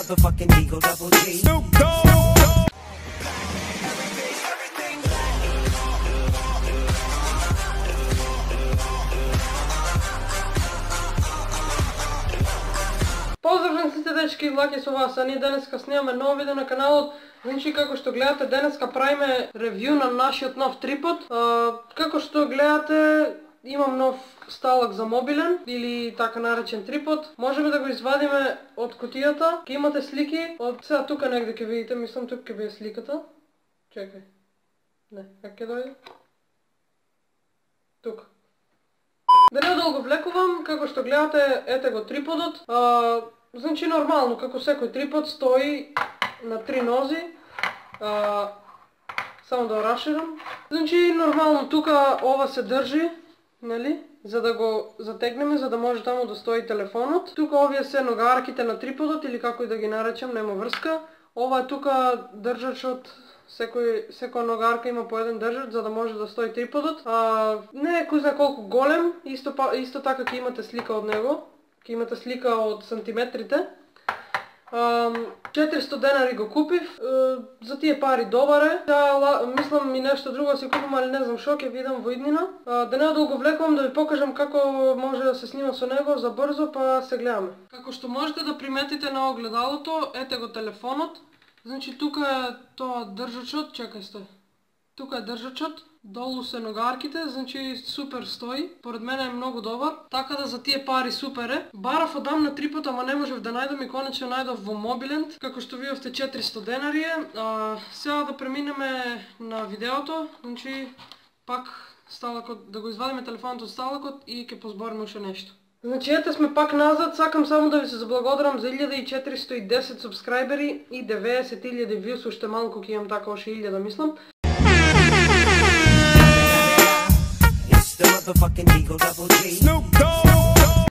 motherfucking Eagle Double G. Snoop Dogg. Поздрав сите дечки, Лаки со вас, а ние денеска снимаме ново видео на каналот. Значи, како што гледате, денеска правиме ревју на нашиот нов трипод. Како што гледате, имам нов сталак за мобилен, или така наречен трипод. Можеме да го извадиме од кутијата. Ке имате слики, од сега тука негде ќе видите, мислам тука ќе биде сликата. Чекај. Не, как ќе дојде? Тука. Да не долго влекувам, како што гледате, ете го триподот. Значи нормално, како секој трипод, стои на 3 нози. Само да раширам. Значи нормално тука ова се држи, нели? За да го затегнеме, за да може таму да стои телефонот. Тука овие се ногарките на триподот, или како и да ги наречам, нема врска. Ова е тука држачот. Секоја ногарка има по еден држач за да може да стои триподот. Не е кој знае колку голем, исто така ќе имате слика од него. Ќе имате слика од сантиметрите. 400 денари го купив. За тие пари добар е. Мислам и нешто друго си купам, али не знам шо, ќе видам во иднина. Да не долго влекувам, да ви покажам како може да се снима со него за брзо, па се гледаме. Како што можете да приметите на огледалото, ете го телефонот. Значи тука е тоа држачот, чекај стој. Тука е држачот, долу се ногарките, значи супер стои. Поред мене е многу добар, така да за тие пари супер е. Барав одам на трипод, ама не можев да најдам и конечно најдов во Мобилент, како што видовте 400 денари е. Сега да преминеме на видеото, значи пак сталакот, да го извадиме телефонот од сталакот и ќе позбориме уште нешто. Значи ете сме пак назад, сакам само да ви се заблагодарам за 1410 субскрайбери и 90.000 вјус, уште малку ќе имам така още 1000 мислам.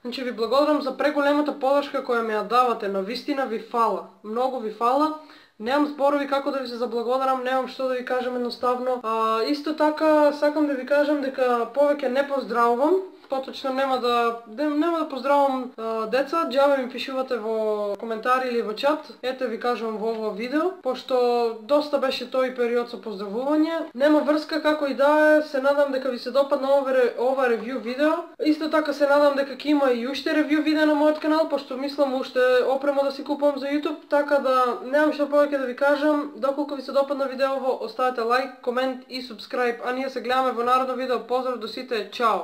Значи ви благодарам за преголемата подршка која ми ја давате, навистина ви фала, многу ви фала. Немам зборови како да ви се заблагодарам, немам што да ви кажам едноставно. Исто така сакам да ви кажам дека повеќе не поздравувам. Поточно нема да поздравам деца, џабе ми пишувате во коментари или во чат. Ете ви кажувам во ово видео, пошто доста беше тој период со поздравување. Нема врска како и да е, се надам дека ви се допадна ова ревју видео. Исто така се надам дека ќе има и уште ревју видео на мојот канал, пошто мислам уште опрема да си купувам за YouTube, така да немам што повеќе да ви кажам. Доколку ви се допадна видеово, оставете лайк, комент и субскрайб, а ние се гледаме во народно видео. Поздрав до сите, чао!